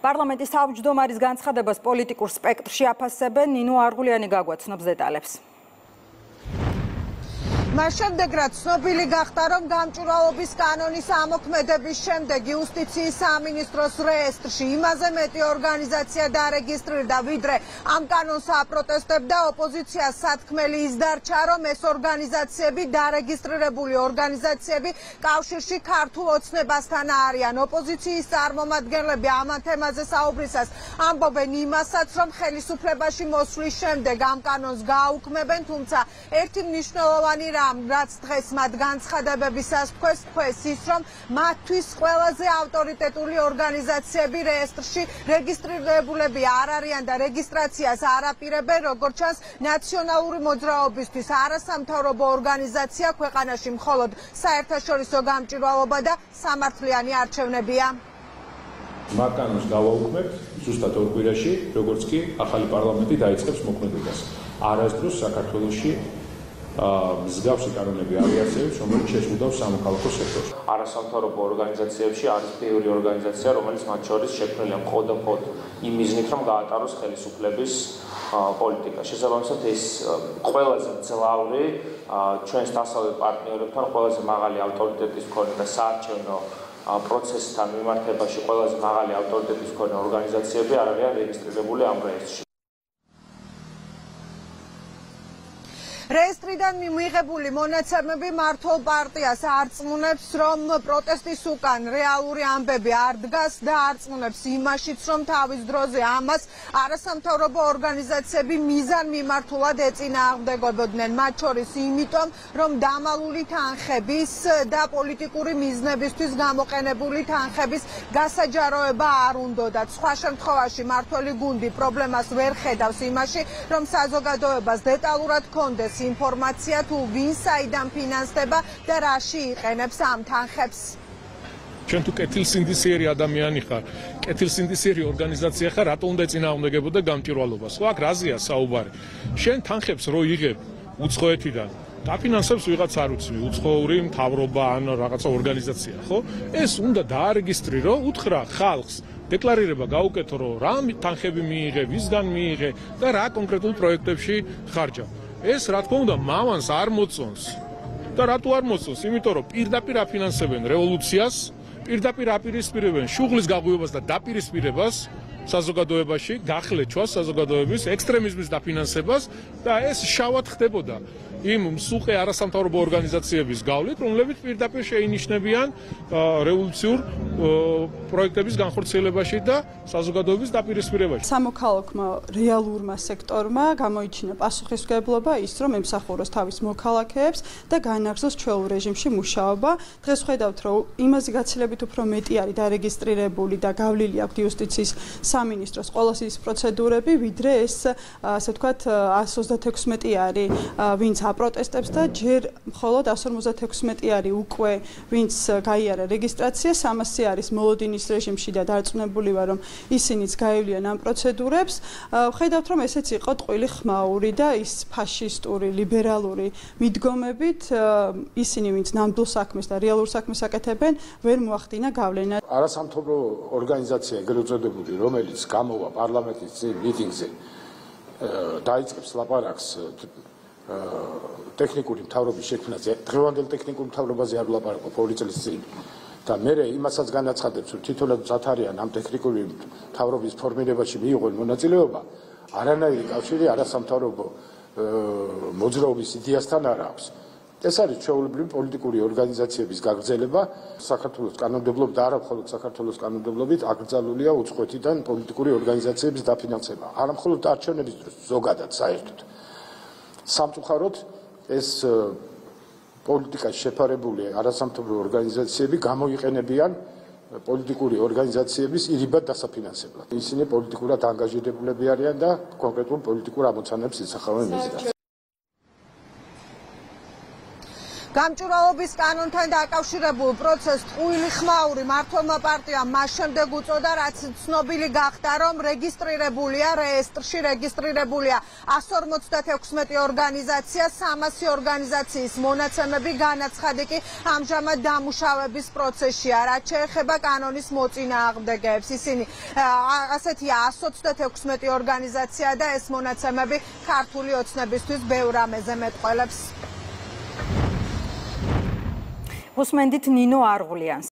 პარლამენტის თავმჯდომარის განცხადებას პოლიტიკურ სპექტრში აფასებენ. ნინო არღულიანი გაგვაცნობს დეტალებს. მას შემდეგ რაც ცნობილი გახდა, რომ გამჭვირვალობის კანონის ამოქმედების შემდეგ იუსტიციის სამინისტროს რეესტრში იმაზე მეტი ორგანიზაცია დარეგისტრირდა, ვიდრე ამ კანონს აპროტესტებდა, ოპოზიციას სათქმელი ის დარჩა, რომ ეს ორგანიზაციები დარეგისტრირებული ორგანიზაციები კავშირში ქართულ ოცნებასთან არიან. ოპოზიციის წარმომადგენლები ამ თემაზე საუბრისას ამბობენ იმასაც, რომ ხელისუფლებაში მოსვლის შემდეგ ამ კანონს გააუქმებენ, თუმცა ერთი მნიშვნელოვანი რაც დღეს მათ განცხადებებისას თქვეს ის, რომ მათთვის ყველაზე ავტორიტეტული ორგანიზაციები რეესტრში რეგისტრირებულები არ არიან და რეგისტრაციას არ აპირებენ, როგორც ჩანს, ნაციონალური მოძრაობისთვის არასამთავრობო ორგანიზაცია ქვეყანაში მხოლოდ საერთაშორისო გამჭვირვალობა და სამართლიანი არჩევნებია. მაკანონს გავაუქმებთ ზუსტად ორ კვირაში, როგორც კი ახალი პარლამენტი დაიწყებს მოქმედებას. არასდროს საქართველოში მსგავსი კანონები არ იარსებებს, რომელიც შეესაბამება სამოქალაქო სექტორს. არასამთავრობო ორგანიზაციებში არის ბევრი ორგანიზაცია, რომელიც მათ შორის შექმნილია მხოლოდ იმ მიზნით, რომ გაატაროს ხელისუფლების პოლიტიკა. შესაბამისად, ეს ყველაზე მძლავრი ჩვენს დასავლეთ პარტნიორებთან ყველაზე მაღალი ავტორიტეტის მქონე და საარჩევნო პროცესთან მიმართებაში ყველაზე მაღალი ავტორიტეტის მქონე ორგანიზაციები არ არიან რეგისტრირებული ამ რეესტრში. რეესტრიდან მიღებული მონაცემები მართლ პარტიას არწმუნებს, რომ პროტესტის უკან რეალური ამბები არ დგას და არწმუნებს იმაშიც, რომ თავის დროზე ამას არასამთავრობო ორგანიზაციები მიზანმიმართულად ეწინააღმდეგებოდნენ. მათ შორის იმიტომ, რომ დამალული თანხების და პოლიტიკური მიზნებისთვის გამოყენებული თანხების გასაჯაროება არ უნდათ. სხვა შემთხვევაში მართველი გუნდი პრობლემას ვერ ხედავს იმაში, რომ საზოგადოებას დეტალურად ჰქონდეს ინფორმაცია თუ ვინ საიდან ფინანსდება და რაში იყენებს ამ თანხებს. ჩვენ თუ კეთილსინდისიერი ადამიანი ხარ, კეთილსინდისიერი ორგანიზაცია ხარ, რატო უნდა ეწინააღმდეგებოდე გამჭვირვალობას? ხო, აქ რაზეა საუბარი? შენ თანხებს რო იღებ უცხოეთიდან, დაფინანსებს ვიღაც არ უცნი, უცხოური მთავრობა ან რაღაცა ორგანიზაცია, ხო? ეს უნდა დაარეგისტრირო, უთხრა ხალხს დეკლარირება გაუკეთო, რომ რა თანხები მიიღე, ვისგან მიიღე და რა კონკრეტულ პროექტებში ხარჯავ. ეს რა თქმა უნდა მამანს არ მოწონს და რატო არ მოწონს? იმიტომ რომ პირდაპირ აფინანსებენ რევოლუციას, პირდაპირ აპირისპირებენ შუღლის გაღვივებას და დაპირისპირებას საზოგადოებაში, გახლეჩვას საზოგადოების ექსტრემიზმის დაფინანსებას და ეს შავად ხდებოდა იმ მსუყე არასამთავრობო ორგანიზაციების გავლით, რომლებიც პირდაპირ შეინიშნებიან რევოლუციურ პროექტების განხორციელებაში და საზოგადოების დაპირისპირებაში. სამოქალაქო რეალურმა სექტორმა გამოიჩინა პასუხისმგებლობა ის, რომ ემსახუროს თავის მოქალაქეებს და განაგრძოს ჩვეულ რეჟიმში მუშაობა. დღეს ხედავთ, რომ იმაზე გაცილებით უფრო მეტი არის დარეგისტრირებული და გავლილი აქვს იუსტიციის სამინისტროს ყველა ის პროცედურები, ვიდრე ეს, ასე ვთქვათ, 136 არის, ვინც აპროტესტებს და ჯერ მხოლოდ 156 არის უკვე, ვინც გაიარა რეგისტრაცია, 300 არის მოლოდინის რეჟიმში და დარწმუნებული ვარ, რომ ისინიც გაივლიან ამ პროცედურებს. ხედავთ, რომ ესეც იყო ტყვილი ხმაური და ის ფაშისტური, ლიბერალური მიდგომებით ისინი, ვინც ნამდვილ საქმეს და რეალურ საქმეს აკეთებენ, ვერ მოახდინა გავლენა. არასამთავრობო ორგანიზაცია ეგრეთ წოდებული, რომელიც გამოვა პარლამენტის მიტინგზე, დაიწყებს ლაპარაკს ტექნიკური მთავრობის შექმნაზე, დღევანდელ ტექნიკურ მთავრობაზე არ ვლაპარაკობ ორი წლის წინ და მე იმასაც განაცხადებს, რომ თითოეულადაც ათარიან ამ ტექნიკური მთავრობის ფორმირებაში მიიღონ მონაწილეობა, არანაირი კავშირი არასამთავრობო მოძრაობის იდეასთან არ აქვს. ეს არის ჩვეულებრივი პოლიტიკური ორგანიზაციების გაგრძელება, საქართველოს კანონმდებლობით და არა მხოლოდ საქართველოს კანონმდებლობით აკრძალულია უცხოეთიდან პოლიტიკური ორგანიზაციების დაფინანსება. არა მხოლოდ არჩევნების დროს, ზოგადად საერთოდ. სამწუხაროდ ეს პოლიტიკაში შეფარებული არასამთავრობო ორგანიზაციები გამოიყენებიან პოლიტიკური ორგანიზაციების ირიბად დასაფინანსებლად. ისინი პოლიტიკურად ანგაჟირებულები არიან და კონკრეტულ პოლიტიკურ ამოცანებს ისახავენ მიზნად. გამჭვირვალობის კანონთან დაკავშირებულ პროცესს ტყუილი ხმაური მმართველმა პარტიამ მას შემდეგ უწოდა, რაც ცნობილი გახდა, რომ რეესტრში რეგისტრირებულია 156 ორგანიზაცია, 300 ორგანიზაციის მონაცემები, განაცხადი კი ამჟამად დამუშავების პროცესშია, რაც შეეხება კანონის მოწინააღმდეგეებს. ისინი ასეთია 126 ორგანიზაცია და ეს მონაცემები ქართული ოცნებისთვის ბევრ რამეზე მეტყველებს. უსმენდით ნინო არღულიანს.